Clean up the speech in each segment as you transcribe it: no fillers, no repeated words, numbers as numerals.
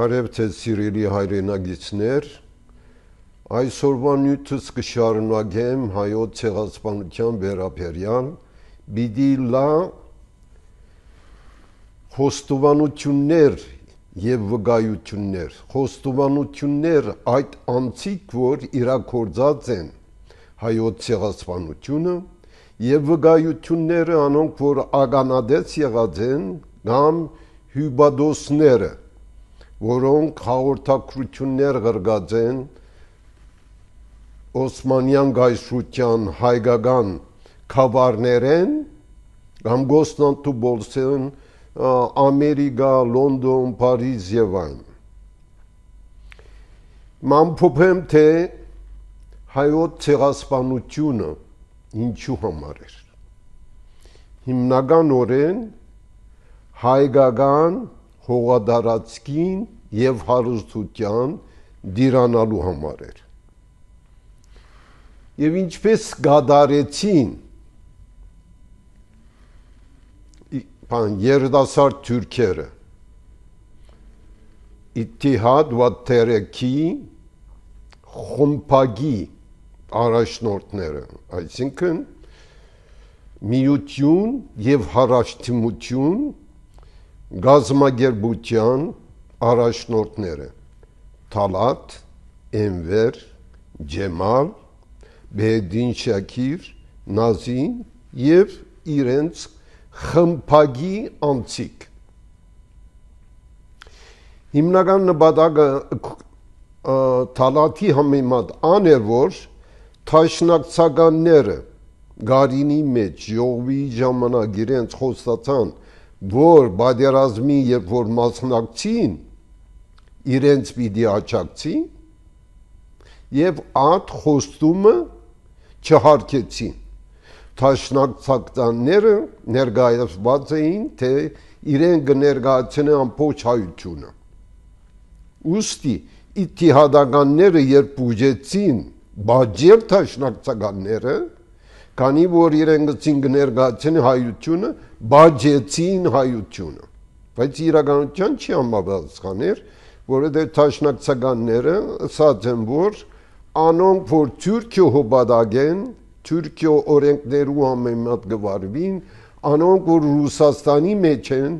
Հարև թե սիրելի հայրենագիցներ, այսօրվա նյութս կշարունակեմ հայոց ցեղասպանության վերաբերյալ, պիտի լա խոստովանություններ եւ վկայություններ, խոստովանություններ այդ անձիկ, որ իրագործած են հայոց ցեղասպանությունը եւ վկայությունները անոնք, որ ականադես եղած են կամ հյուբադոսները, որոնք հաղորդակցություններ ղրգած են Օսմանյան գայսրության հայկական քավարներեն կամ գոստանտու բոլսեն Ամերիկա, Լոնդոն, Փարիզ եւ այլն։ Մանփոփեմ թե հայոց ցեղասպանությունը ինչու համար էր։ Հիմնականորեն հայկական հողադարածքին եւ հարստության դիրանալու համար էր։ Եվ ինչպես գադարեցին երիտասարդ թուրքերը Իթիհադ վաթերեքի խումբագի առաջնորդները, այսինքն միություն եւ հարաշտիմություն գազམ་ագերբության առաջնորդները Թալատ, Էնվեր, Ջեմալ, Բեհեդին Շաքիր, Նազին եւ իրենց խմբագի անձիկ։ Հիմնական նպատակը Թալատի համեմատ աներ, որ թաշնակցականները գարինի մեջ ժողովի ժամանակ իրենց խոստացան, որ բادرազմի երբ որ մասնակցին իրենց պիտի աջակցին եւ այդ խոստումը չհարգեցին։ Թաշնակցականները ներկայացված էին, թե իրեն կներկայացնեն ամբողջ հայությունը։ Ուստի իթիհադականները երբ ուժեցին բաժել թաշնակցականները, քանի որ իրեն գցին կներկայացնեն հայությունը, բաժեցին հայությունը, բայց իրականության չի համապատասխաներ, որովհետև թաշնակցականները ասած են, որ անոնք, որ Թուրքիո հոբադագեն, Թուրքիո օրենքներու համեմատ գվարվին, անոնք, որ Ռուսաստանի մեջ են,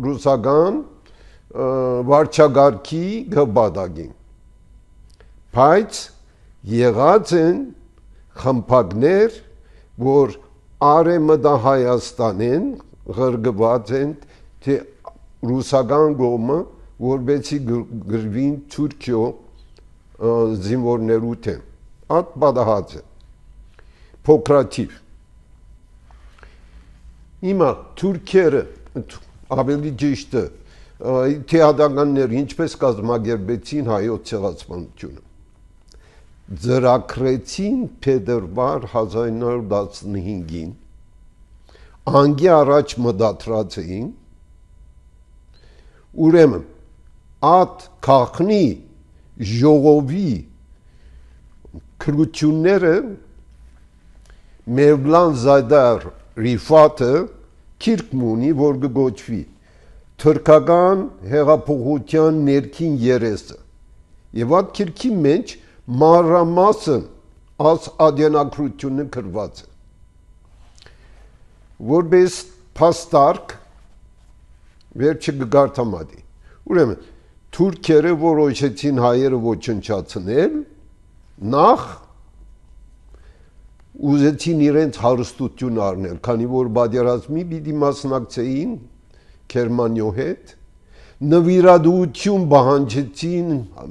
ռուսական վարչագարքի գվադագին, բայց եղած են խմբակներ, որ արեմտա Հայաստանեն ղրգված են, թե ռուսական գոմը, որբեցի գրվին Թուրքիո զինվորներու թեմ։ Այդ պատահած է, փոքրաթիվ։ Հիմա թուրքերը, ավելի ճիշտը, իթիհադականները ինչպես կազմակերպեցին հայոց ցեղասպանությունը։ Ձրակրեցին փետրվար 1915-ին, անգի առաջ մտադրած էին, ուրեմն այդ քաղաքնի ժողովի քրությունները Մևլան Զայդար Ռիֆաթը քիրք ունի, որ կգոչվի թուրքական հեղափոխության ներքին երեսը, եւ այդ քիրքի մեջ մանրամասն այս ադենակրությունը գրված է, որպես փաստարկ վերջը կգարտամատի։ Ուրեմն թուրքերը որոշեցին հայերը ոչնչացնել, նախ ուզեցին իրենց հարստություն առնել, քանի որ բادرազմի պիտի մասնակցեին Գերմանիո հետ, նվիրատվություն պահանջեցին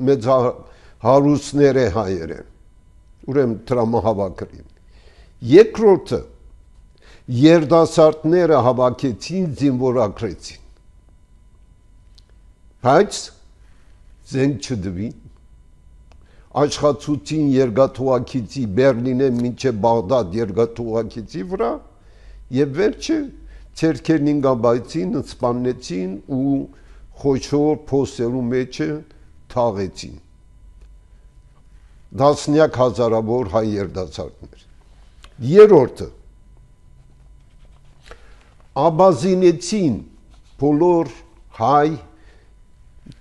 մեծ հարուստները հայերը, ուրեմն տրամահավաքրին։ Երկրորդը երիտասարդները հավաքեցին, զինվորագրեցին, բայց զենք չդվին, աշխատեցին երկաթուղակիցի Բերլինե մինչև Բաղդադ երկաթուղակիցի վրա եւ վերջը ցերկերին գաբայցին, սպանեցին ու խոշոր փոսերու մեջը թաղեցին։ Դասնյակ հազարավոր հայ երիտասարդներ։ Երրորդը աբազինեցին բոլոր հայ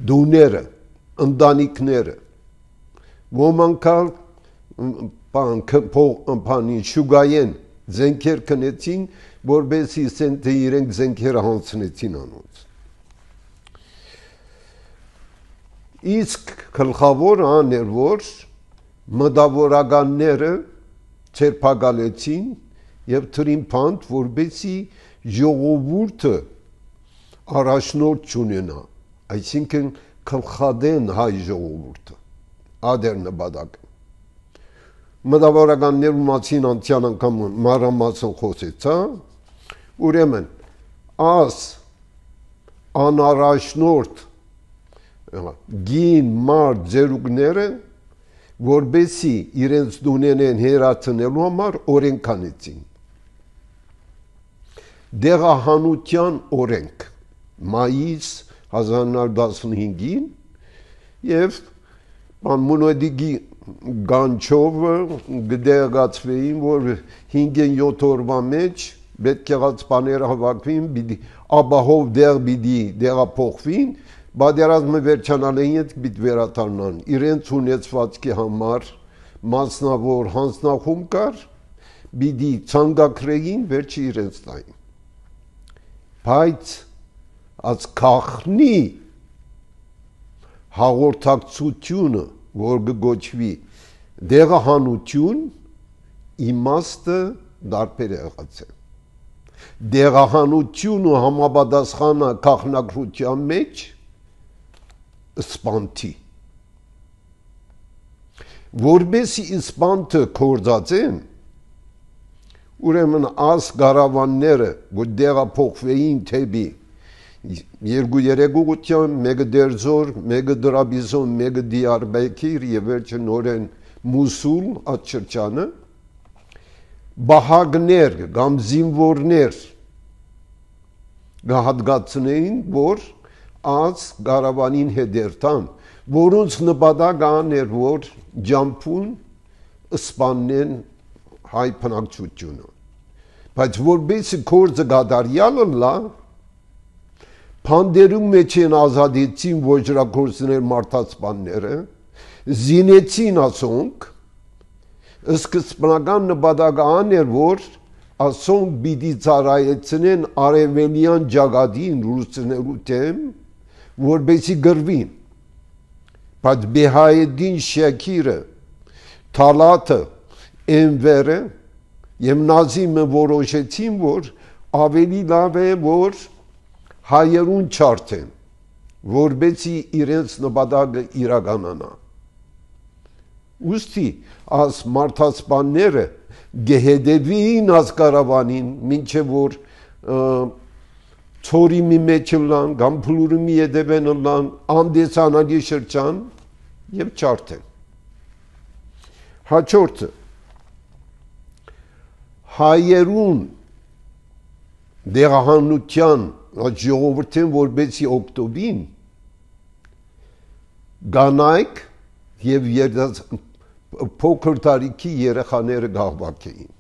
դուները, ընտանիքները, ոմանք բանի շուգայեն զենքեր քնեցին, որբեսի սենտե իրենք զենքերը հանցնեցին անոնց։ Իսկ գլխավոր աներ, որ մտավորականները ցերպակալեցին եւ թրին փանդ, որբեսի ժողովուրդը առաջնորդ չունենա, այսինքն գլխադեն հայ ժողովուրդը, ադեր նպատակ։ Մտավորականներու մասին անցյալ անգամ մանրամասն խոսեցա, ուրեմն աս անառաջնորդ գին մարդ ձերուկները, որբեսի իրենց դուներեն հերացնելու համար օրենք անեցին։ Դեղահանության օրենք մայիս 1915-ին եւ Մոնոդիգի գանչովը գդեղացվեին, որ 5-7 օրվա մեջ պետք եղած բաները հավաքվին, ապահով դեղ պիտի դեղափոխվին, բادرազմը վերջանալին հետ պիտի վերադառնան, իրենց ունեցվածքի համար մասնավոր հանձնախումբ կար, պիտի ցանկակրեին վերջի իրենց տային։ Բայց այս քաղնի հաղորդակցությունը, որ գոչվի դեղահանություն, իմաստը դարբեր եղած է։ Դեղահանությունը համապատասխանը քաղնակրության մեջ սպանթի։ Որբեսի սպանթը կործածեն, ուրեմն աս գարավանները, որ դեղափոխվեին թեպի 2-3 ուղղությամբ, մեկը Դերձոր, մեկը Դրաբիզոն, մեկը Դիարբեկիր եւ վերջը նորեն Մուսուլ այդ շրջանը, բահագներ կամ զինվորներ գահատգացնեին, որ աս գարավանին հետերտան, որոնց նպատակն էր, որ ջամփուն սպանեն հայ բնակչությունը։ Բայց որբեսի կորձը գադարյալը լա, Փանդերում մեջ են ազատեցին ոչրագործներ մարդասպանները, զինեցին ասոնք, սկզբնական նպատակն էր, որ ասոնք պիտի ծառայեցնեն արևելյան ջագադին ռուսներու դեմ, որբեսի գրվին։ Բայց Բեհայեդին Շաքիրը, Թալաթը, Էնվերը եւ Նազիմը որոշեցին, որ ավելի լավ է, որ հայերուն չարթեն, որբեցի իրենց նպատակը իրականանա։ Ուստի աս մարդասպանները գեհեդևին աս կարավանին, մինչև որ ծորի մի մեջ լան, կամ փլուրի մի ետևեն լան, անդեսանալի շրջան և չարթեն։ Հաջորդը, հայերուն դեղահանության ժողովրդին որբեցի օգտովին գանայք և փոքր տարիքի երեխաները գաղվակ էին։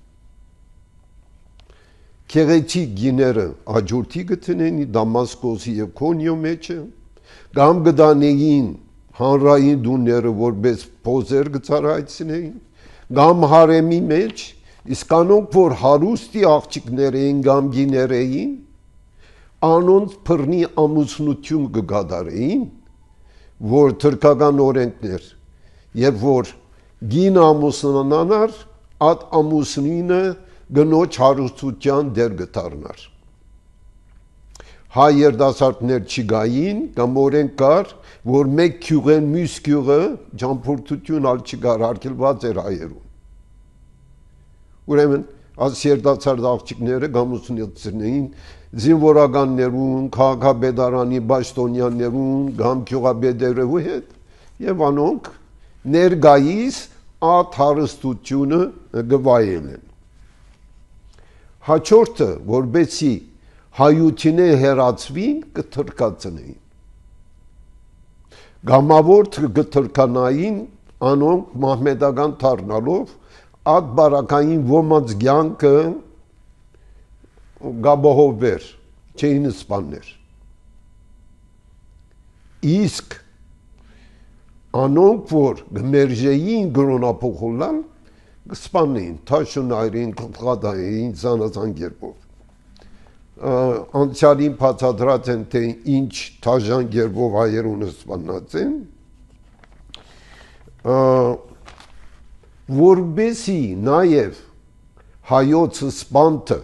Քեղեցիկ գիները աջորդի գտնեին Դամասկոսի և Քոնյո մեջը, կամ գտանեին հանրային դուները որպես փոզեր գծարայցնեին, կամ հարեմի մեջ, իսկ անոնք, որ հարուստի աղջիկներ էին, կամ գիներ էին, անոնց փռնի ամուսնություն կգադարեին, որ թրքական օրենքներ, երբ որ գին ամուսնանար, այդ ամուսնինը գնոջ հարուստության դեր գտարնար։ Հայ երդասարտներ չգային, կամ օրենք կար, որ մեկ քյուղեն մյուս քյուղը ճամփորդություն ալ չկար, արգելված էր հայերուն։ Ուրեմն այս երդասարտ աղջիկները գամուսնեցին զինվորականներուն, քաղաքապետարանի պաշտոնյաներուն, կամ գյուղապետերու հետ, եւ անոնք ներկայիս այդ հարստությունը գվայել են։ Հաջորդը, որբեսի հայությունե հերացվին, կթրկացնեին։ Գամավոր կթրկանային անոնք մահմեդական դառնալով այդ բարակային ոմանց կյանքը գաբահովվեր, չէին սպաններ։ իսկ անոնք որ գմերժեին գրոնափոխուլան կսպանեին, թաշունայրին, կղադային, զանազան գերբով։ Անցյալին բացատրած են, թե ինչ թաժան գերբով հայերունը սպանած են, որբեսի նաև հայոց սպանթը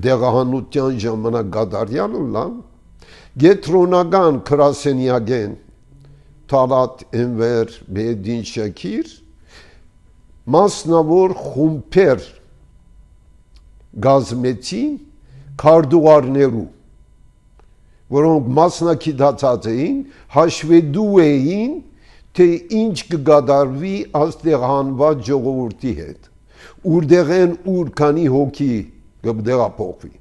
դեղահանության ժամանակ գադարյալը լան, գետրոնական քրասենյագեն Թալատ Էնվեր Բեդին Շաքիր մասնավոր խումբեր գազմեցին քարտուղարներու, որոնք մասնակցած էին, հաշվետու էին, թե ինչ կգադարվի աստեղանված ժողովրդի հետ, ուրդեղեն ուր քանի հոգի կդեղափոխվի,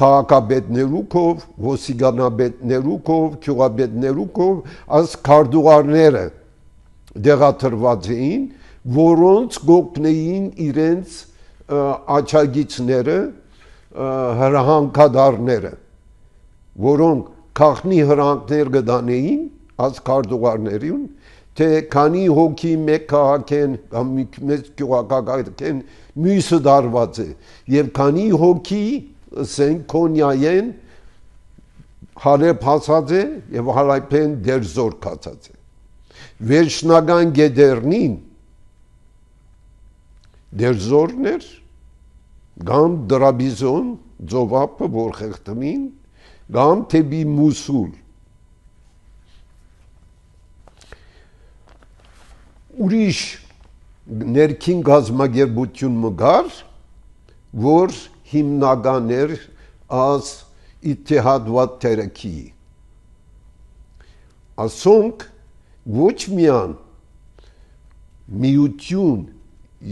քաղաքապետներու կով, ոսիգանաբետներու կով, գյուղապետներու կով, այս քարտուղարները դեղաթրված էին, որոնց գոկնեին իրենց աչագիցները, հրահանգադարները, որոնք քաղնի հրանքներ գդանեին, այս քարտուղարներին, թե քանի հոգի մեկ քաղաքեն կամ մեծ գյուղակագեն մյուսը դարված է եւ քանի հոգի ասենք կոնյայեն հարեպ հասած է եւ հարայփեն դերձոր կացած է վերջնական գեդերնին դերձորներ գամ դրաբիզոն ձովապը որ խեղտմին գամ թեբի մուսուլ ուրիշ ներքին գազմագերբություն մգար, որ հիմնական էր ազ իթիհադվատ թերեքի։ Ասոնք ոչ միան միություն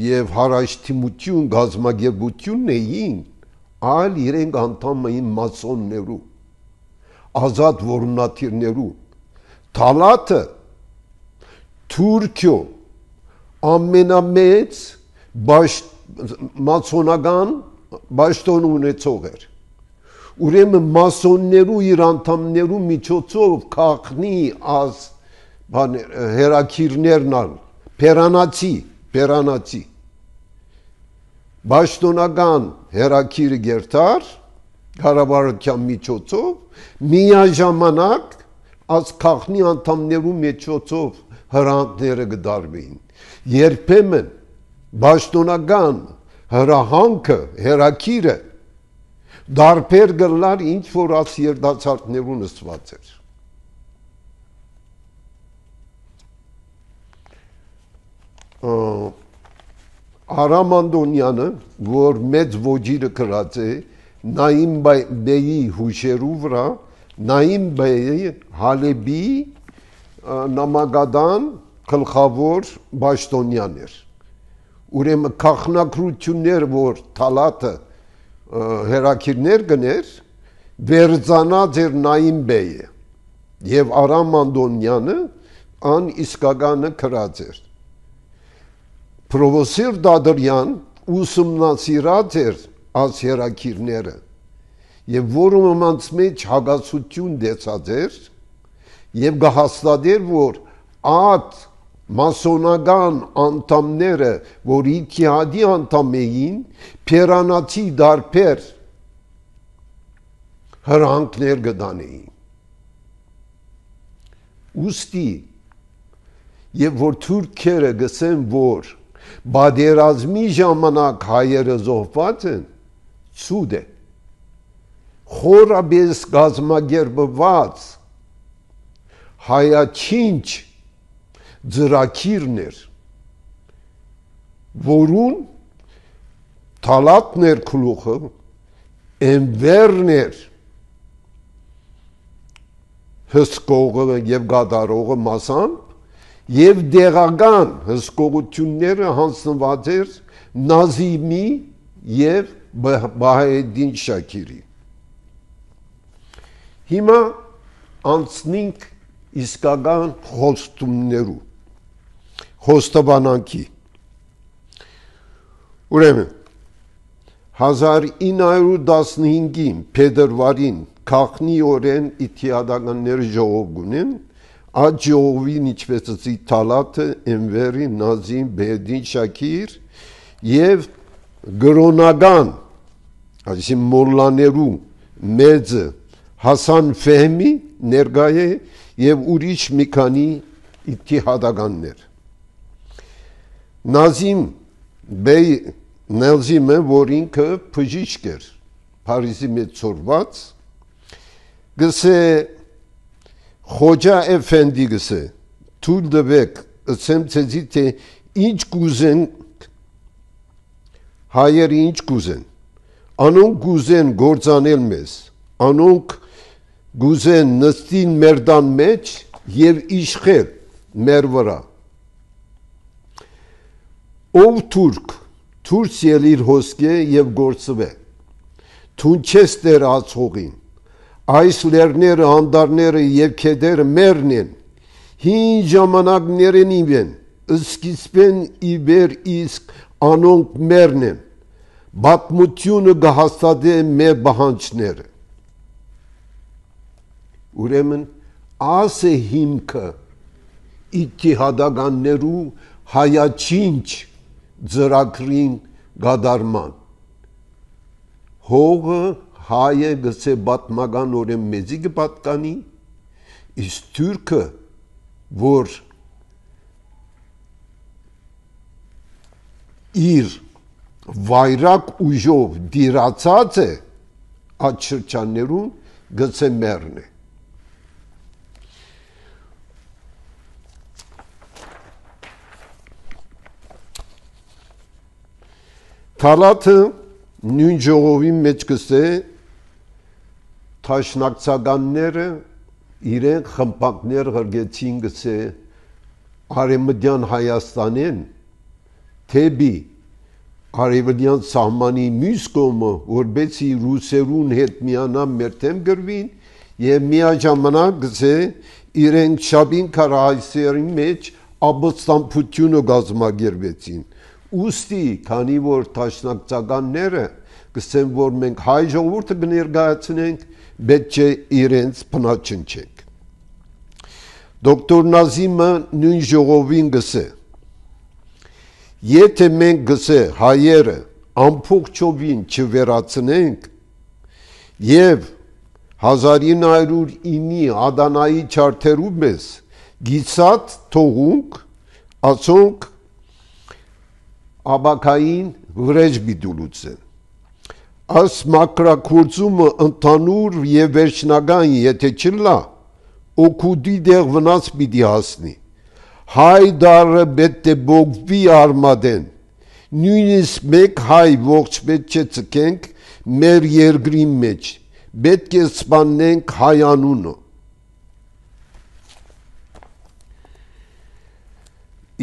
և հարաշտիմություն գազմագերբությունն էին, այլ իրենք անդամ էին մասոններու, ազատ որոնաթիրներու, Թալաթը Թուրքիո ամենամեծ մասոնական բաշտոն ունեցող էր։ Ուրեմն մասոններու իր անդամներու միջոցով քաղնի ազ հերակիրներն ալ, պերանացի, բաշտոնական հերակիրը գերտար, կառավարության միջոցով, միաժամանակ ազ քաղնի անդամներու միջոցով հրանքները գդարվեին։ Երբեմն բաշտոնական հրահանքը, հերակիրը դարբեր գլար ինչ որ աս երդացարտներու նստված էր։ Արամ Անդոնյանը, որ մեծ ոջիրը կրած է, Նայիմ բեյի հուշերու վրա, Նայիմ բեյի Հալեբի նամակադան գլխավոր բաշտոնյան էր։ Ուրեմն քաղաքնակրություններ, որ Թալաթը հերակիրներ գներ, վերցանած էր Նայիմ բեյը եւ Արամ Անդոնյանը ան իսկականը քրած էր։ Պրովոսիր Դադրյան ուսումնասիրած էր աս հերակիրները եւ որոնց մեջ հագասություն դեցած էր եւ գահստադեր որ այդ մասոնական անդամները, որ իթիհադի անդամ էին, պերանացի դարբեր հրանքներ գդանեին։ Ուստի, եւ որ թուրքերը գսեն, որ բادرազմի ժամանակ հայերը զոհված են, ցուդ է։ Խորաբես գազմագերբված հայաչինչ ձրակիրն էր, որուն Թալաթն էր գլուխը, Էնվերն էր հսկողը եւ գադարողը մասամբ եւ դեղական հսկողությունները հանձնված էր Նազիմի եւ Բահայեդին Շաքիրի։ Հիմա անցնենք իսկական խոստումներու խոստովանանքի ուրեմն 1915-ին փետրվարին քաղնի օրեն իթիադականներ ժողով գունեն այդ ժողովին ինչպես ասի Թալաթը, Էնվերի, Նազիմ, Բեդին, Շաքիր եւ գրոնական այսինքն մոլլաներու մեծը Հասան Ֆեհմի ներկա է եւ ուրիշ մի քանի իթիհադականներ Նազիմ Բեյ Նելզիմը որ ինքը բժիշկ էր Փարիզի մեջ ծորված գսե Խոջա Էֆենդի գսե թույլ տվեք ասեմ ցեզի թե ինչ կուզեն հայերը ինչ կուզեն անոնք կուզեն գործանել մեզ անոնք գուզեն նստին մեր տան մեջ եւ իշխել մեր վրա ով թուրք ելիր հոսքե եւ գործվե թուն չես տեր ածողին այս լերները հանդարները եւ քեդերը մերն են հին ժամանակներն իվեն սկիզբեն իբեր իսկ անոնք մերն են բատմությունը գահաստատե մեր բանջները ուրեմն ասե հիմքը իթիհադականներու հայաչինչ ծրագրին գադարման հողը հայը գսե բատմական օրեն մեզի կպատկանի իսկ թուրքը որ իր վայրակ ուժով դիրացած է այդ շրջաններում գսե մերն է Թալաթը նույն ժողովի մեջ գսե թաշնակցականները իրեն խմբակներ ղրգեցին գսե արևմտյան Հայաստանեն թեբի արևելյան սահմանի մյուս կողմը որբեցի ռուսերուն հետ միանան մեր թեմ գրվին եւ միաժամանակ գսե իրեն շաբին քարահայսերի մեջ ապստամբությունը գազմագերվեցին ուստի քանի որ տաշնակցականները գսեն որ մենք հայ ժողովուրդը կներկայացնենք պետք է իրենց փնաչնչենք դոկտոր Նազիմը նույն ժողովին գսե եթե մենք գսե հայերը ամբողջովին չվերացնենք եւ 1909-ի Ադանայի չարթերու մեզ գիսած թողունք ասոնք Աբակային վրեժ բիդուլուց են Աս մակրակործումը ընդանուր եւ վերջնական եթե չլա օկուդի դեղ վնաս պիտի հասնի հայ դարը պետք է բողվի արմադեն նույնիսկ մեկ հայ ողջ պետք է ցկենք մեր երկրի մեջ պետք է սպանենք հայ անունը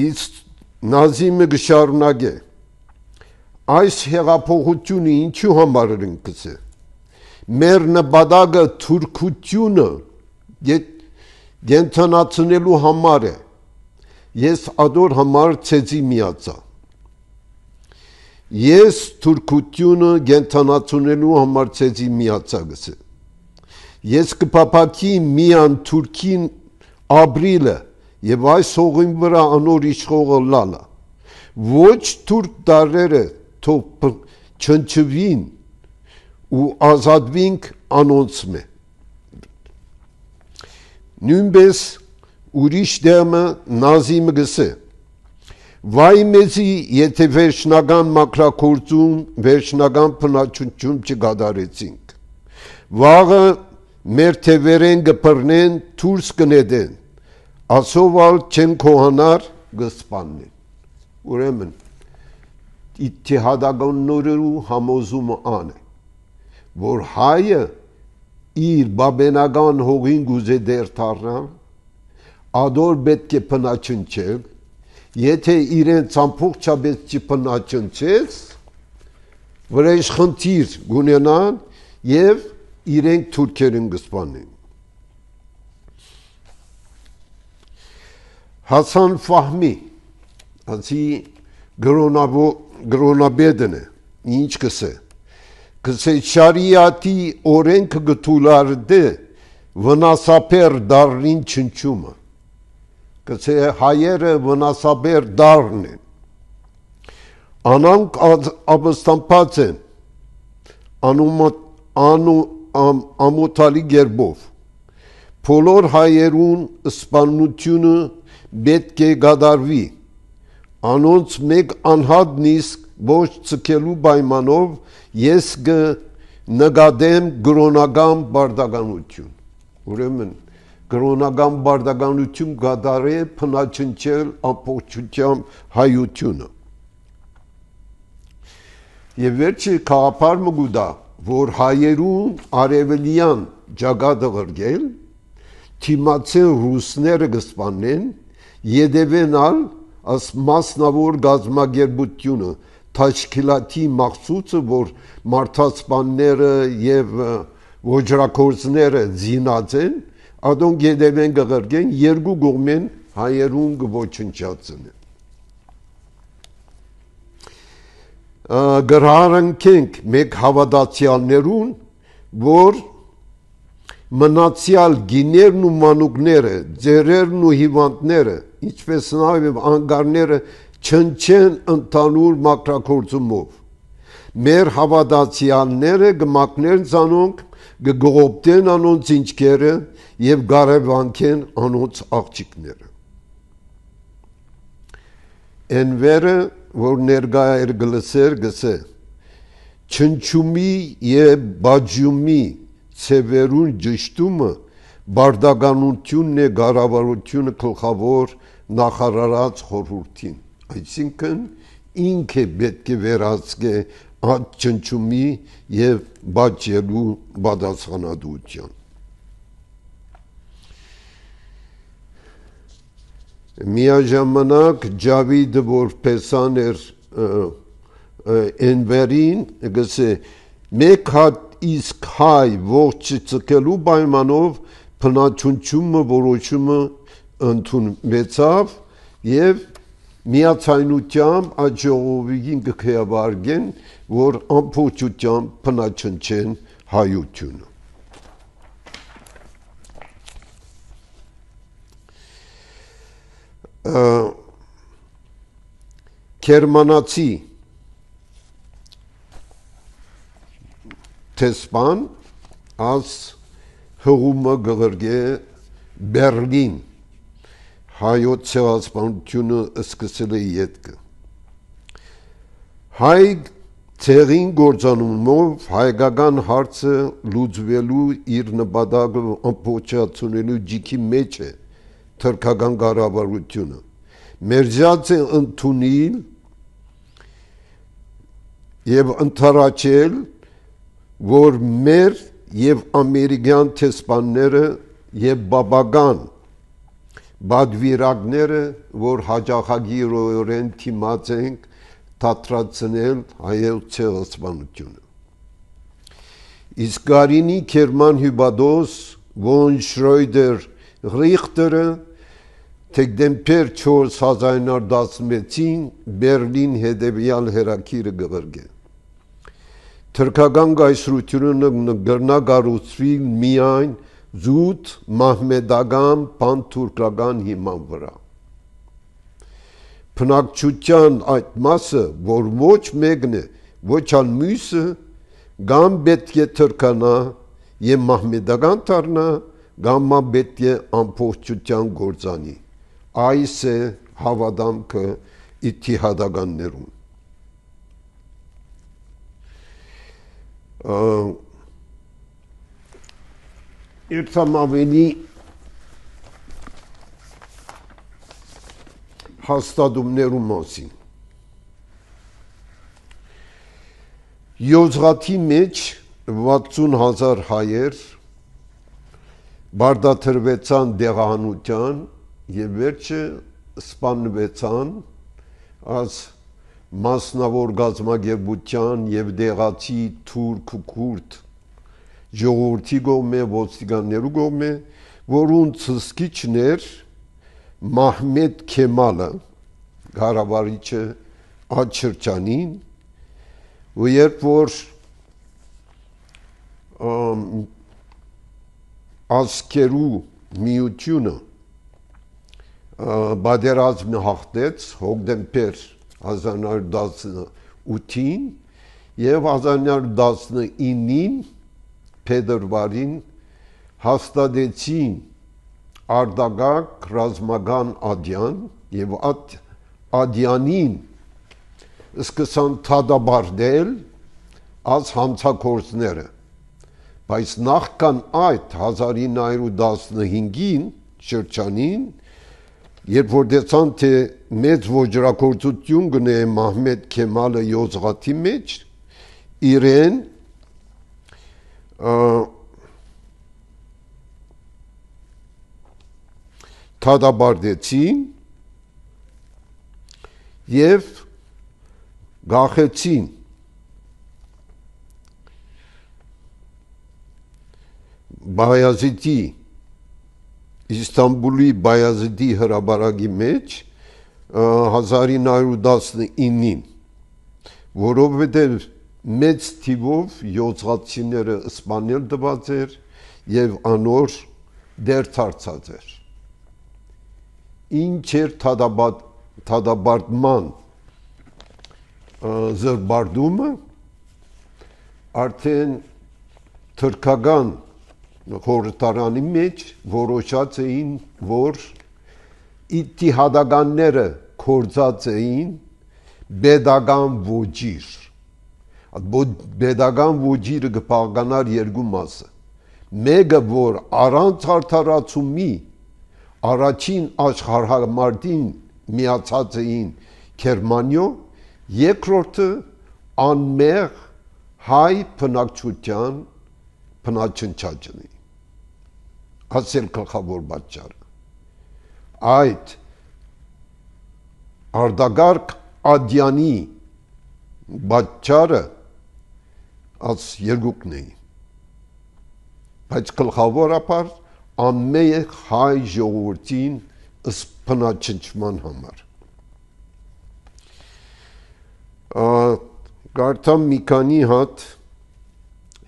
իսկ Նազիմը գշարունակե այս հեղափոխությունը ինչու համար են գսե մեր նպատակը թուրքությունը գենթանացնելու համար է ես ադոր համար ցեզի միացա ես թուրքությունը գենթանացնելու համար ցեզի միացա գսե ես կփապակի միան թուրքին ապրիլը եւ այս հողին վրա անոր իշխողը լալա ոչ թուրք տարերը թող չնչվին ու ազատվինք անոնցմե նույնպես ուրիշ դեմը Նազիմը գսե վայ մեզի եթե վերջնական մակրակործում վերջնական փնաչություն չգադարեցինք վաղը մեր թևերեն գբռնեն թուրս կնեդեն ասովալ չեն կողանար գսպաննեն ուրեմն իթիհադականներու համոզումը ան է որ հայը իր բաբենական հողին գուզե դեր թարնալ ադոր պետք է փնաչնչել եթե իրենց ամբողջապես չփնաչնչես վրեժ խնդիր գունենան եւ իրենք թուրքերին գսպանեն Հասան Ֆահմի ասի գրոնաբեդն է ինչ կսե շարիատի օրենքը գթուլարդե վնասապեր դարին չնչումը գսե հայերը վնասաբեր դառն են, անանք ապստամբած են ամոթալի գերբով, բոլոր հայերուն սպանությունը պետք է գադարվի, անոնց մեկ անհատ նիսկ ոչ ցկելու պայմանով ես նկատեմ գրոնական բարդականություն, ուրեմն գրոնական բարդականություն գադարե փնաչնչել ամբողջությամբ հայությունը։ Եվ վերջի քաղաքարը գուտա, որ հայերուն արևելյան ճակատը ղրգել, թիմացեն ռուսները կսպանեն, յետևենալ աս մասնավոր գազམ་ագերբությունը Թաշկիլաթի մաղցուցը, որ մարդասպանները եւ ոչրակորձները զինած են, ադոնք յետևեն կղրգեն, երկու կողմեն հայերուն կոչնչացնեն։ Գրահանքենք մեկ հավատացյալներուն, որ մնացյալ գիներն ու մանուկները, ձերերն ու հիվանդները, ինչպես նաև անգարները չնչեն ընդհանուր մակրակորձումով։ Մեր հավատացյալները կմակներն ցանոնք, կգողոպտեն անոնց ինչքերը եւ գարևանքեն անոնց աղջիկները։ Ընվերը որ ներկա էր գլսեր գսե չնչումի եւ բաջումի ցևերուն ճշտումը բարդականությունն է գարավարությունը գլխավոր նախարարած խորհրդին, այսինքն ինքը պետք է վերահսկե այդ չնչումի եւ բաջելու պատասխանատվության։ Միաժամանակ Ջավիդը որ պեսան էր Էնվերին գսե մեկ հատ իսկ հայ ողջ ցկելու պայմանով փնաչունչումը որոշումը ընդունվեցավ եւ միացայնությամբ այդ ժողովին կքեաբարգեն որ ամբողջությամբ փնաչնչեն հայությունը։ Գերմանացի տեսփան աս հողումը գղրգե Բերլին հայոց ցեղասպանությունը սկսել է յետքը հայ ցեղին գործանումով հայկական հարցը լուծվելու իր նպատակը ամբողջացնելու ջիքի մեջ է թրքական կառավարությունը մերժած է ընդունել եւ ընթարաչել որ մեր եւ ամերիկյան տեսփանները եւ բաբական բադվիրակները որ հաջախագիրորեն թիմած են թատրացնել հայոց ցեղասպանությունը իսկ Գարինի Քերման Հյուբադոս Վոն Շրոյդեր Ռիխտերը Դեկտեմբեր 4 1916-ին Բերլին հետևյալ հերակիրը գղրգե թրքական գայսրությունը գրնագարուցվի միայն զուտ մահմեդական պանթուրքական հիման վրա բնակչության այդ մասը որ ոչ մեկն է ոչ ալ մյուսը կամ պետք է թրկանա եւ մահմեդական դառնա կամ պետք է ամբողջության գործանի այս է հավատամքը իթիհադականներուն Իրտամ ավելի հաստատումներու մասին Յոզղաթի մեջ 60,000 հայեր բարդաթրվեցան դեղահանության եւ վերջը սպանվեցան as մասնավոր գազམ་ագերբության եւ դեղացի թուրք ու քուրդ ժողովրդի կողմէ ոստիկաններու կողմէ որոնց սկիչներ Մահմեդ Քեմալը Ղարաբաղիչը աչրջանին ու երբ որ ասկերու միությունը բادرազմը հաղթեց հոկտեմբեր 1918-ին եւ 1919-ին փետրվարին հաստատեցին Արտագաղթ ռազմական ադյան եւ ադյանին սկսան թադաբարդել als հանցագործները բայց նախքան այդ 1915-ին շրջանին երբ որ դեցան թե մեծ ոճրագործություն գնե Մահմեդ Քեմալը Յոզղաթի մեջ իրեն թադաբարդեցին եւ գախեցին Բայազիդի Իստանբուլի Բայազիդի հրաբարակի մեջ 1919-ին որովհետև մեծ թիվով յոզղացիները սպանել տված էր եւ անոր դերթարցած էր ինչ էր թադաբարդման զրբարդումը արդեն թրքական խորհրդարանի մեջ որոշած էին որ իթիհադականները կորցած էին բեդական ոճիր բեդական ոճիրը կփաղկանար երկու մասը մեկը որ առանց արդարացումի առաջին աշխարհամարտին միացած էին Գերմանիո երկրորդը անմեղ հայ բնակչության բնաչնչաճն է ասել գլխավոր պատճառը այդ Արտագաղթ ադյանի պատճառը als երկուքն էին բայց գլխավորապես անմեղ հայ ժողովրդին բնաչնչման համար կարդամ մի քանի հատ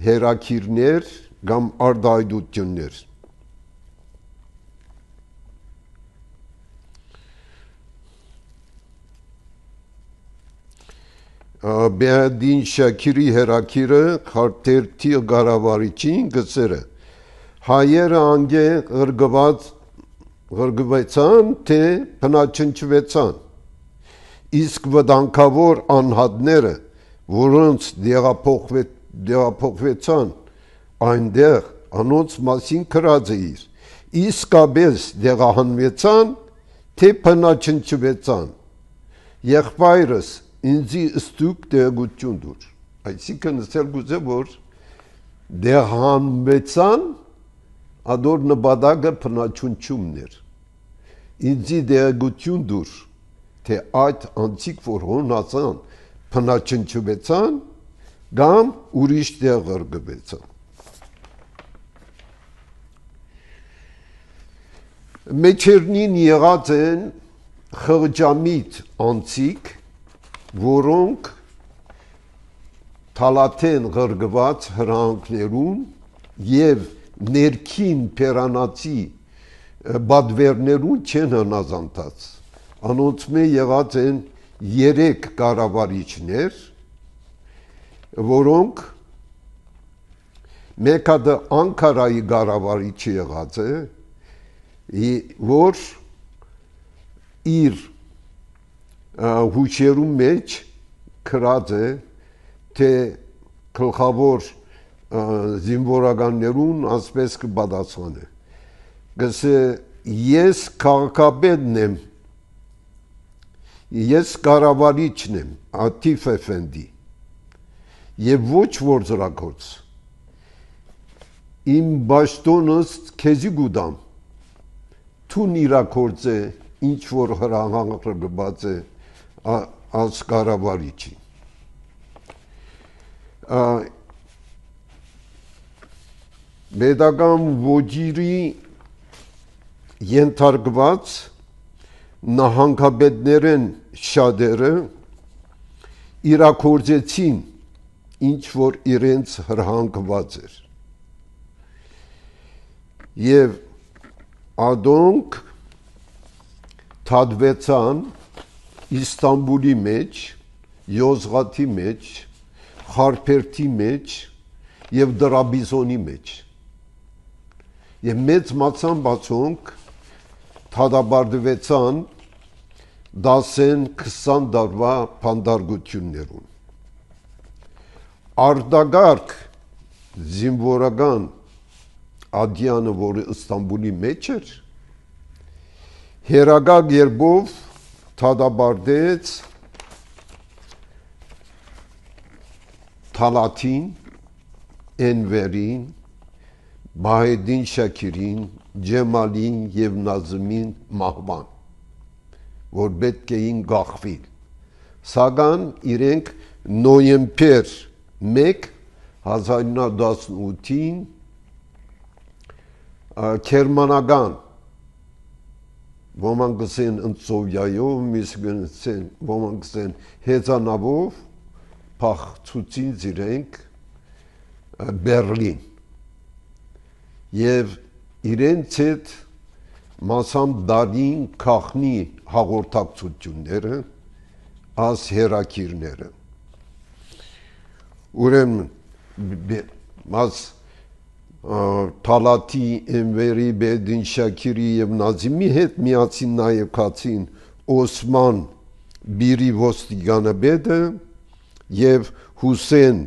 հերակիրներ կամ արտահայտություններ Բեադին Շաքիրի հերակիրը քարտերթի գարավարիչին գծերը հայերը անգե ғրգվեցան թե բնաչնչվեցան իսկ վտանգավոր անհատները որոնց դեղափոխվեցան այնտեղ անոնց մասին գրած էր իսկապես դեղահանվեցան թե բնաչնչվեցան եղբայրս ինձի ստուկ տեղություն դուր այսինքն ասել գուզե որ դեղահանվեցան ադոր նպատակը բնաչնչումն էր ինձի տեղություն դուր թե այդ անցիկ որ հոնացան բնաչնչվեցան կամ ուրիշ տեղ ղրգվեցան մեջերնին եղած են խղճամիտ անցիկ որոնք թալաթեն ղրգված հրանքներուն եւ ներքին պերանացի բադվերներուն չեն հնազանդած անոնց մե եղած են 3 կառավարիչներ որոնք մեկը Անկարայի կառավարիչը եղած է որ իր հուշերու մեջ գրած է թե գլխավոր զինվորականներուն ասպես կպատասխանե գսե ես քաղաքապետն եմ ես կառավարիչն եմ Աթիֆ Էֆենդի եւ ոչ որձրագործ իմ բաշտոնս քեզի գուդամ թուն իրակորձե ինչ որ հրահանգված է als կառավարիչի Պետական ոճիրի ենթարկված նահանգապետներն շատերը իրակորձեցին ինչ որ իրենց հրահանգված էր եւ ադոնք թադվեցան Իստանբուլի մեջ, Յոզղաթի մեջ, Խարփերթի մեջ եւ Դրաբիզոնի մեջ։ Եվ մեծ մացամբացոնք թադաբարդվեցան 10-20 դարվա փանդարգություններուն։ Արտագարկ զինվորական ադյանը, որը Իստանբուլի մեջ էր, հերագակ երբով թադաբարդեց Թալաթին, Էնվերին, Բահեդին Շաքիրին, Ջեմալին եւ Նազմին մահվան, որ պետք էին գախվել։ Սակայն իրենք նոյեմբեր 1 1918-ին Քերմանական ոմանք գսեն ընծովյայով, ոմանք գսեն հեծանավով փախցուցին իրենք Բերլին եւ իրենց հետ մասամբ դարին քախնի հաղորդակցությունները աս հերակիրները ուրեմն մաս Թալաթի, Էնվերի, Բեդին Շաքիրի եւ Նազիմի հետ միացին նաեւ քացին Օսման Բիրի ոստիկանաբեդը եւ Հուսեն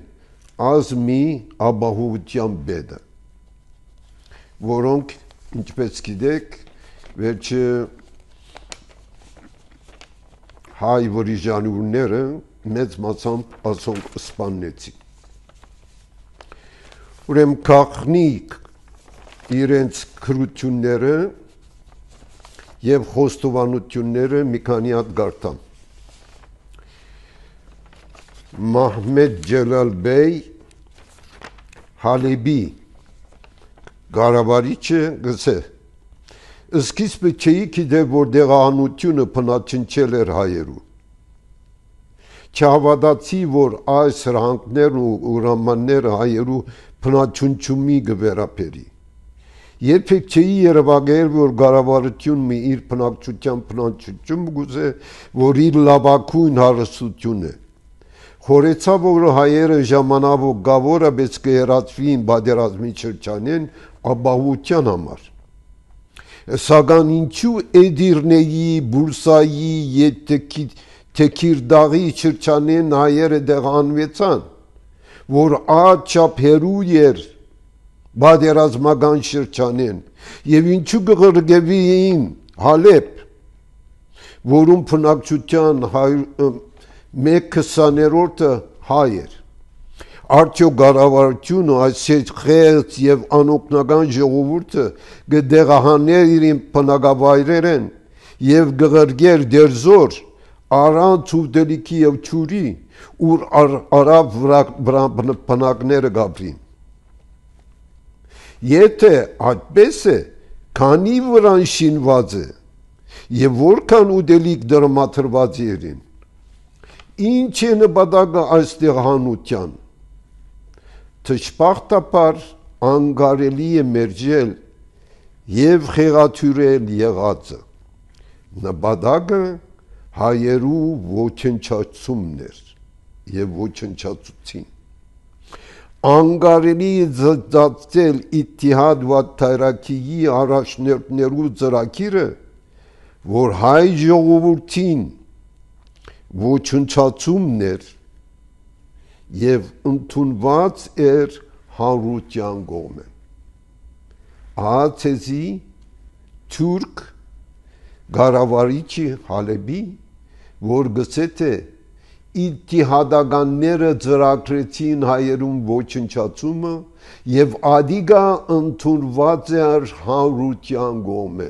Ազմի Աբահովության բեդը, որոնք ինչպես գիտեք վերջը հայ վրիժանուրները մեծ մասամբ ասոնք սպանեցին։ Ուրեմն քախնիկ իրենց քրությունները եւ խոստովանությունները մի քանի հատ գարտան։ Մահմեդ Ջելալ Բեյ Հալեբի Գարավարիչը գսե սկիզբը չէի գիտեր, որ դեղահանությունը փնաչնչել էր հայերու։ Չհավատացի, որ այս հրանքներն ու ուրամանները հայերու փնաչունչումի գվերապերի։ Երբեք չէի երևակայել, որ գարավարությունը իր փնակչության փնաչություն գուզե, որ իր լավագույն հարստություն է։ Խորեցա, որ հայերը ժամանավոր գավորը բես կհերացվին բادرազմի շրջանեն ապահովության համար։ Սակայն ինչու Էդիրնեի, Բուրսայի եւ Թեքիրդաղի շրջանեն հայերը դեղանվեցան, որ աչափ հերու էր բادرազմական շրջանեն եւ ինչու գղրգեվին Հալեբ, որում փնակչության 1/20-ը հայ էր։ Արդյոք գարավարությունը այս խեղծ եւ անօգնական ժողովուրդը գդեղահաներ իրեն փնակավայրերեն եւ գղրգեր դերզոր առանց ուտելիքի եւ ճուրի ուր արաբ բնակները գաբրին։ Եթե այդպես է, քանի վրան շինված է եւ որքան ուտելիք դրամատրված երին, ինչ է նպատակը այս դեղահանության։ Թշպախտապար անգարելի է մերժել եւ խեղաթյուրել եղածը։ Նպատակը հայերու ոչնչացումն էր եւ ոչնչացուցին։ Անգարելի զծածել Իթիհադ վա Թայրակիի առաջներու ծրագիրը, որ հայ ժողովրդին ոչնչացումն էր եւ ընդունված էր հանրության կողմը։ Ահացեզի թուրք գարավարիչի Հալեբի, որ գսե թե Իթիհադականները ծրագրեցին հայերուն ոչնչացումը եւ ադիգա ընդունված էր հանրության կողմը։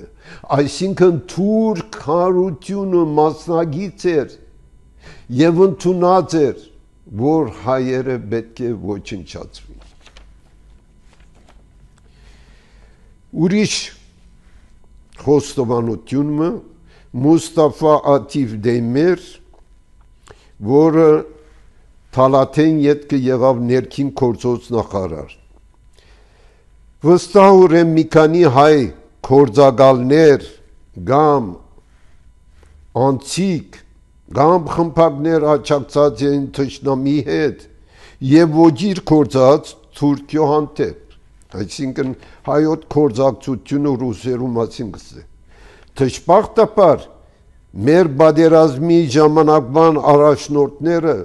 Այսինքն թուրք հանրությունը մասնագիծ էր եւ ընդունած էր, որ հայերը պետք է ոչնչացվին։ Ուրիշ խոստովանությունը Մուստաֆա Աթիվ Դեյմեր, որը Թալաթեն ետքը եղավ ներքին գործոց նախարար։ Վստահորեն մի քանի հայ գործակալներ կամ անցիկ կամ խմբակներ աջակցած են թշնամի հետ եւ ոչիր կործած Թուրքիո հանդեպ, այսինքն հայոց կործակցությունը ռուսերու մասին կսե։ Դժբախտաբար մեր բادرազմի ժամանակվան առաջնորդները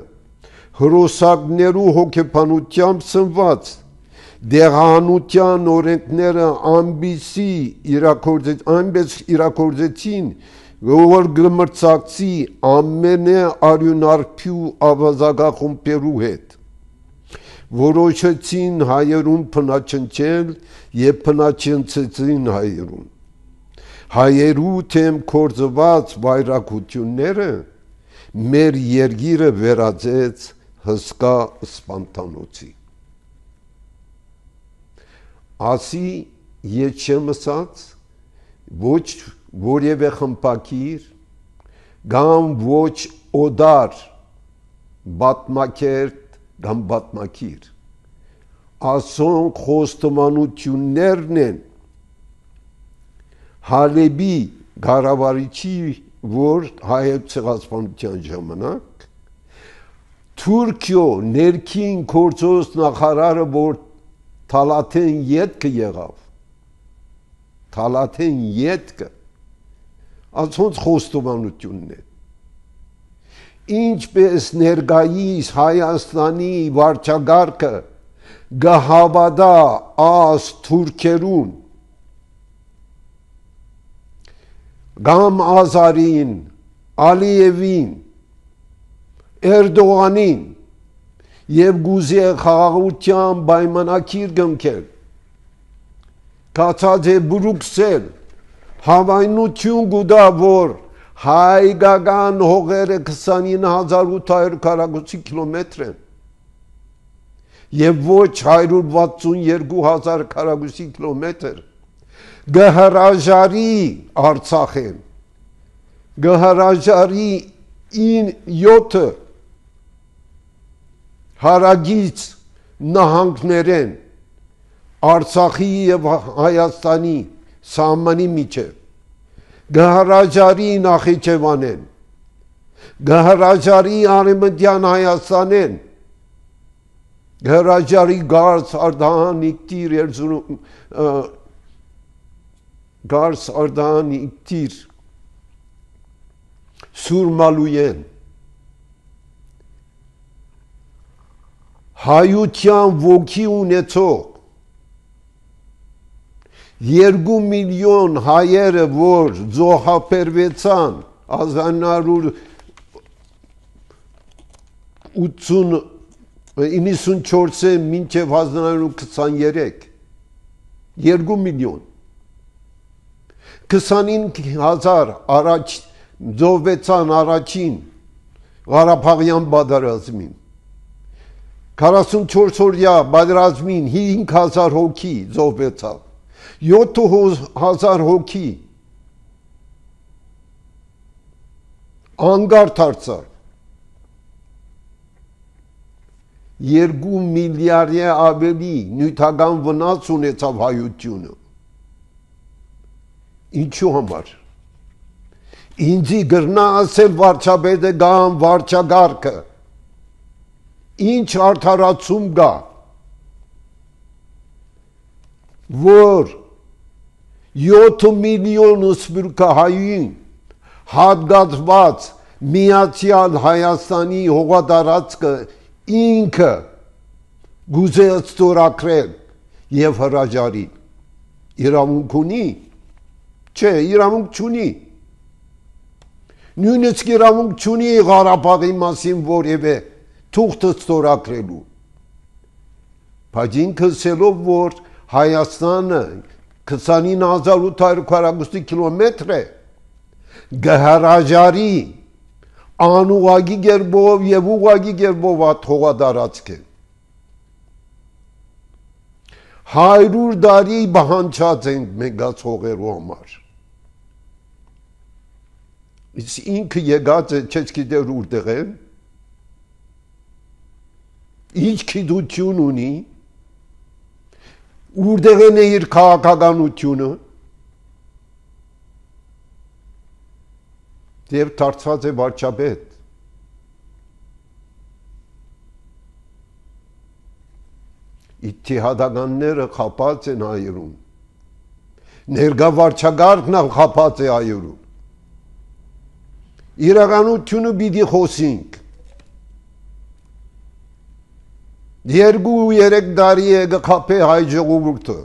հրոսակներու հոգեբանությամբ սնված դեղանության օրենքները այնպես իրակորձեցին, որ գմրցակցի ամենե արյունարփյու ավազագախումբերու հետ որոշեցին հայերուն փնաչնչել եւ փնաչնցեցին հայերու թեմ կորձված վայրակությունները մեր երգիրը վերածեց հսկա սպանտանոցի։ Ասի ետ չեմ ասած, ոչ որևէ խմբակիր կամ ոչ օդար բատմակերտ կամ բատմակիր ասոն խոստմանություններն են Հալեբի գարավարիչի որ հայոց ցեղասպանության ժամանակ Թուրքիո ներքին գործոս նախարարը որ Թալաթեն ետքը եղավ Թալաթեն ետքը ասոնց խոստովանությունն է ինչպես ներկայիս Հայաստանի վարչագահը գահավադա աս թուրքերուն Գամ Ազարին, Ալիևին, Էրդողանին եւ գուզե խաղաղության պայմանագիր կնքել կացած է Բրուքսել հավայնություն գուտա որ հայկական հողերը 29800 քառակուսի կիլոմետր են եւ ոչ 162000 քառակուսի կիլոմետր գհրաժարի Արցախեն գհրաժարի 7 հարագից նահանգներեն Արցախի եւ Հայաստանի սահմանի միջև գհրաժարի Նախիջևանեն գհրաժարի Արևմտյան Հայաստանեն գհրաժարի Գարս Արդահան Իգտիր Երզուրում Գարս Արդահան Իգտիր Սուրմալույեն հայության ոգի ունեցող 2 միլիոն հայերը որ զոհաբերվեցան 1994-ը մինչև 1923 2 միլիոն 25000 առաջ զոհվեցան առաջին Ղարաբաղյան պատերազմին 44 օրյա պատերազմին 5000 հոգի զոհվեցավ 7000 հոգի անգարտ դարձավ 2 միլիարդի ավելի նյութական վնաս ունեցավ հայությունը ինչու համար ինձի գրնա ասել վարչապետը կամ վարչագահը ինչ արդարացում կա որ 7 միլիոն սփյուռքահային հատկացված միացյալ Հայաստանի հողատարածքը ինքը գուզեց ստորագրել եւ հրաժարի իրավունք ունի չէ իրավունք չունի նույնիսկ իրավունք չունի Ղարաբաղի մասին որևէ թուղթ ստորագրելու բայց ինքը ասելով որ Հայաստանը 29800 կիլոմետր է գհրաժարի անուղագի գերբով եւ ուղագի գերբով հողատարածք է 100 տարի բանջած ենք մենք այս հողերու համար ինքը եկած է չես գիտեր որտեղ է ինչ գիտություն ունի որտեղ է իր քաղաքականությունը Եվ դարձած է վարչապետ։ Իթիհադականները խապած են հայերում։ Ներկա վարչագահն խապած է հայերում։ Իրականությունը պիտի խոսենք։ 2-3 տարի է կխապե հայ ժողովուրդը։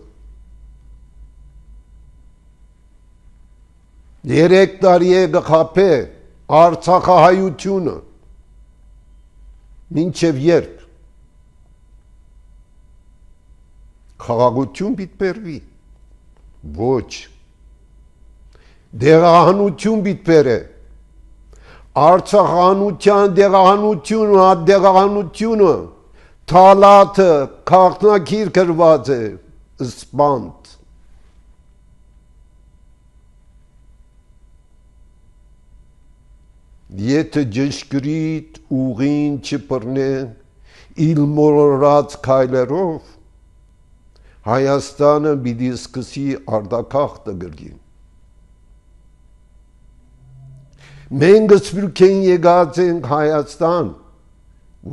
3 տարի է կխապե Արցախահայությունը։ Մինչև երբ։ Խաղաղություն պիտի բերվի։ Ոչ։ Դեղահանություն պիտի բերե։ Արցախանության դեղահանությունը, դեղահանությունը, թալաթը, քաղաքնակիր գրված է, սպանդ։ Եթե ճշգրիտ ուղին չբռնեն իր մոլորած քայլերով, Հայաստանը պիտի սկսի արտագաղթը գրգին։ Մենք սփյուռքեն եկած ենք Հայաստան,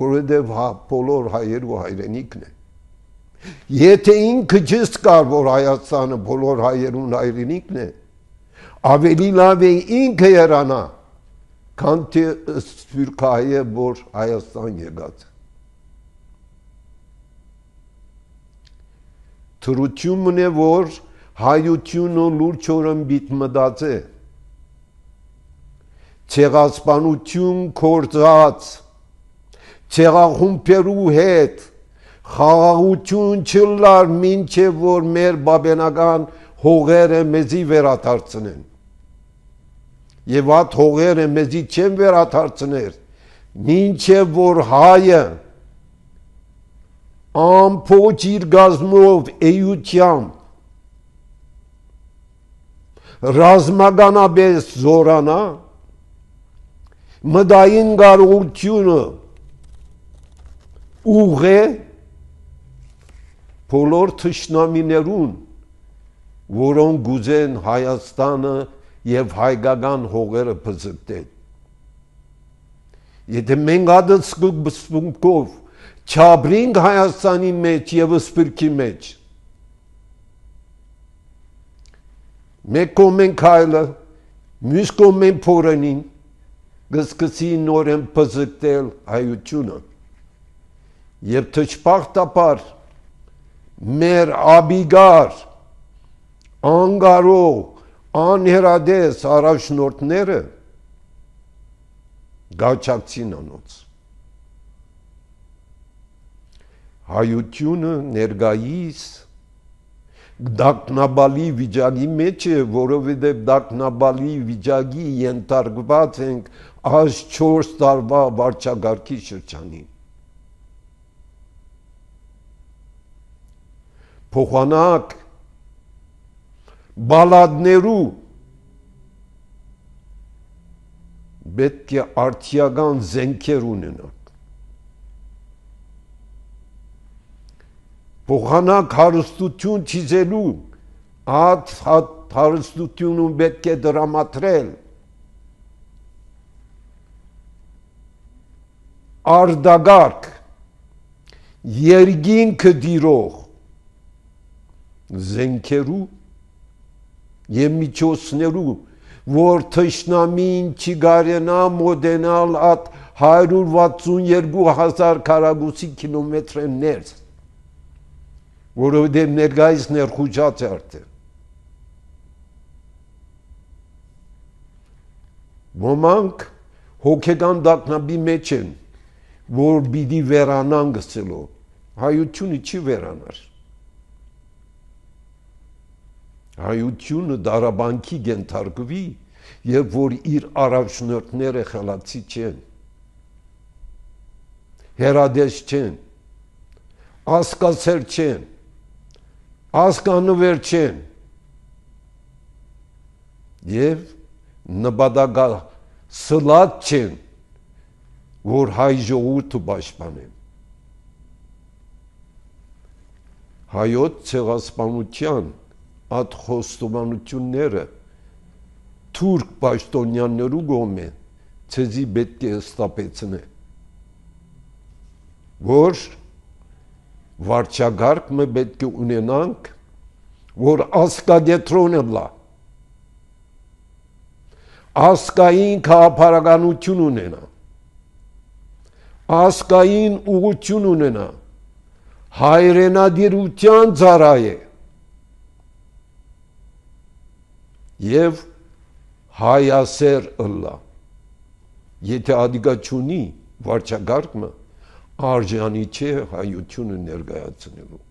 որովհետև բոլոր հայերու հայրենիքն է։ Եթե ինքը չզգար, որ Հայաստանը բոլոր հայերուն հայրենիքն է, ավելի լավ է ինքը երանա, քան թե սփյուռքահայը, որ Հայաստան եկած է։ Թրությունն է, որ հայությունը լուրջորեն պիտի մտածե, ցեղասպանություն կործած, ցեղախումբերու հետ խաղաղություն չլար, մինչև որ մեր բաբենական հողերը մեզի վերադարձնեն։ Եվ այդ հողերը մեզի չեն վերադարձներ, մինչև որ հայը ամբողջ իր գազմով էությամբ ռազմականապես զորանա, մտային կարողությունը ուղղե բոլոր թշնամիներուն, որոնք գուզեն Հայաստանը եւ հայկական հողերը բզկտեն։ Եթե մենք այդ սկզբունքով չաբրինք Հայաստանի մեջ եւ սփյուռքի մեջ, մեկ կողմեն քայլը, մյուս կողմեն փորենին, կսկսի նորեն բզկտել հայությունը եւ թշպախտաբար մեր աբիգար, անգարող, անհերադես առաջնորդները գաչակցին անոց։ Հայությունը ներկայիս դակնաբալի վիճակի մեջ է, որովհետև դակնաբալի վիճակի ենթարկված ենք այս 4 տարվա վարչագահի շրջանին։ Փոխանակ բալադներու պետք է արդիական զենքեր ունենանք։ Փոխանակ հարստություն չիզելու, այդ հարստությունում պետք է դրամատրել արդագարգ, երկինքը դիրող զենքերու եւ միջոցներու, որ թշնամին չգարենա մոտենալ այդ 162,000 քառակուսի կիլոմետրը ներս, որովհետև ներկայիս ներխուժած է արդեն։ Ոմանք հոգեկան դակնաբի մեջ են, որ պիտի վերանան գցելով, հայությունը չի վերանար։ Հայությունը դարաբանքի կենթարկվի, երբ որ իր առաջնորդները խելացի չեն, հերադես չեն, ասկասեր չեն, ասկանվեր չեն և նպատակասլաց չեն, որ հայ ժողովուրդը պաշտպանեն։ Հայոց ցեղասպանության այդ խոստովանությունները թուրք պաշտոնյաներու գոմե ցեզի պետք է ստապեցնե որ վարչագարկ մը պետք է ունենանք որ ասկադետրոնը լա ասկային քաղաքականություն ունենա ասկային ուղղություն ունենա հայրենադիրության ծառայ է եւ հայասեր ըլլա եթե ադիգա չունի վարչագարկը արժանի չէ հայությունը ներկայացնելու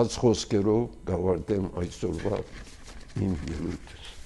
այս խոսքերով գավարտեմ այսօրվա իմ ելույթս